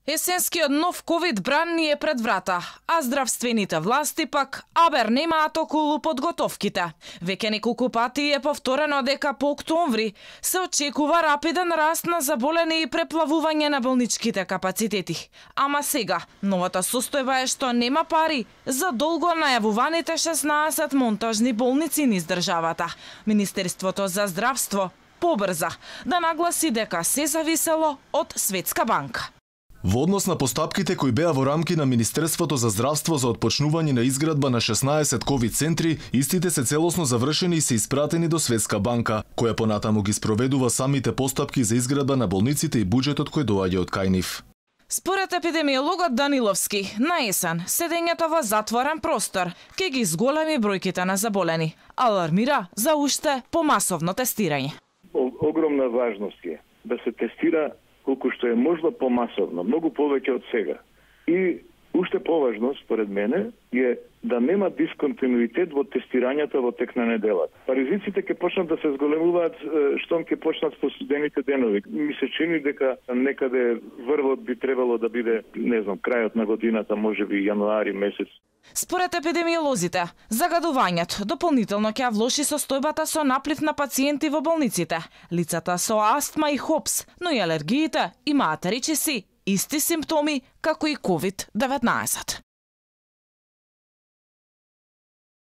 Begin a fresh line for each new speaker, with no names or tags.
Есенскиот нов ковид бран ни е пред врата, а здравствените власти пак абер немаат околу подготовките. Веќе неколку пати е повторено дека по октомври се очекува рапиден раст на заболени и преплавување на болничките капацитети. Ама сега, новата состојба е што нема пари за долго најавуваните 16 монтажни болници низ државата. Министерството за здравство побрза да нагласи дека се зависело од Светска банка.
Во однос на постапките кои беа во рамки на Министерството за здравство за отпочнување на изградба на 16 ковид центри, истите се целосно завршени и се испратени до Светска банка, која понатаму ги спроведува самите постапки за изградба на болниците и буџетот кој доаѓа од кај нив.
Според епидемиологот Даниловски, на есен седењето во затворен простор ќе ги зголеми бројките на заболени. Алармира за уште помасовно тестирање.
Огромна важност е да се тестира колку што е можно помасовно, многу повеќе од сега. И уште поважно, според мене, е да нема дисконтинуитет во тестирањата во тек на неделата. Ризиците ќе почнат да се зголемуваат штом ќе почнат со студените денови. Ми се чини дека некаде врвот би требало да биде, не знам, крајот на годината, можеби јануари месец.
Според епидемиолозите, загадувањето дополнително ќе влоши состојбата со наплив на пациенти во болниците. Лицата со астма и хопс, но и алергиите имаат речиси исти симптоми како и COVID-19.